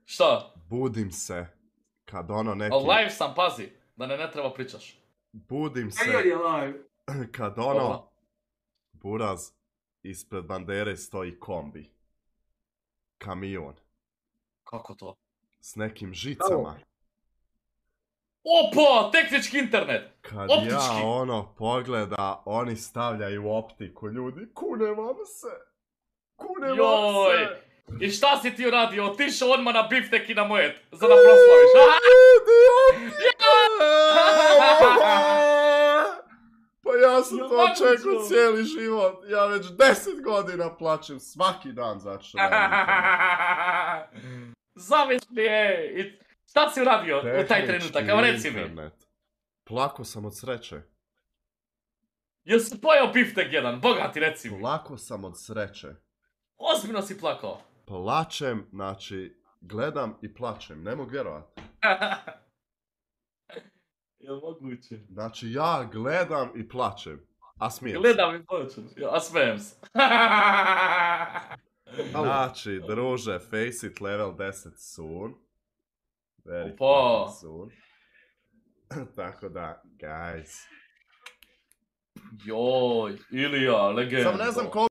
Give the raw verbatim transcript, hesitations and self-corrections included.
Šta? Budim se kad ono neki... Al live sam, pazi, da ne ne treba pričaš. Budim se Ajde je live. kad ono... Buraz, ispred bandere stoji kombi. Kamion. Kako to? S nekim žicama. Opa, tehnički internet! Kad Optički. ja ono pogleda, oni stavljaju optiku, ljudi, kune vam se. Kune vam Joj! se. I šta si ti uradio? Otišao odmah na biftek i na mojet, za da proslaviš. Pa ja sam to očekao cijeli život. Ja već deset godina plaćem svaki dan zato što radim. Zamisli, ej! Šta si uradio u taj trenutak? Evo reci mi. Plako sam od sreće. Jel si pojao biftek jedan? Bogati, reci mi. Plako sam od sreće. Ozbiljno si plakao. Plačem, znači, gledam i plačem, ne mogu vjerovati. Jel moguće? Znači, ja gledam i plačem, a smijem se. Gledam i plačem, a smijem se. Znači, druže, Face It level deset soon. Very Opa. soon. Tako da, guys. Joj, Ilija, legenda. Sam ne znam koliko